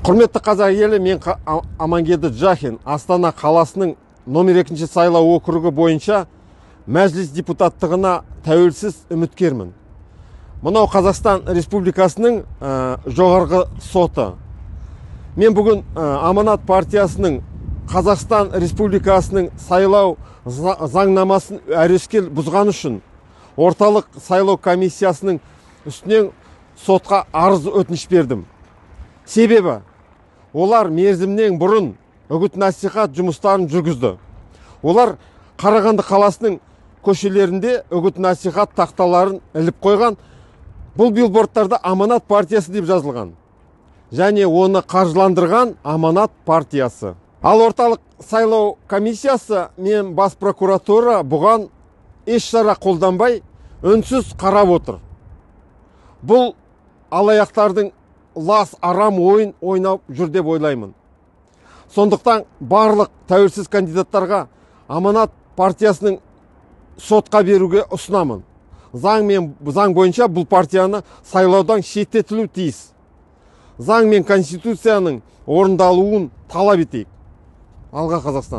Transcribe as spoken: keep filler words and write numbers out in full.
Құрметті қазақ елі, мен Амангелді Джахин, Астана қаласының номер екінші сайлау округі бойынша мәжіліс депутаттығына тәуелсіз үміткермін. Мынау Қазақстан Республикасының ә, жоғарғы соты. Мен бүгін ә, Аманат партиясының Қазақстан Республикасының сайлау заңнамасын өрескел бұзған үшін орталық сайлау комиссиясының үстінен сотқа арыз өтініш бердім. Себебі олар мерзімнен бұрын үгіт насихат жұмыстарын жүргізді. Олар Қарағанды қаласының көшелерінде үгіт насихат тақталарын іліп қойған. Бұл билбордтарда Аманат партиясы деп жазылған. Және оны қаржыландырған Аманат партиясы. Ал орталық сайлау комиссиясы мен бас прокуратура бұған еш шара қолданбай үнсіз қарап отыр. Бұл алаяқтардың лас арам ойын ойнап жүр деп ойлаймын. Сондықтан барлық тәуелсіз кандидаттарға Аманат партиясының сотқа беруге ұсынамын. Заң мен заң бойынша бұл партияны сайлаудан шеттетілу тиіс. Заң мен конституцияның орындалуын талап етейік. Алға Қазақстан.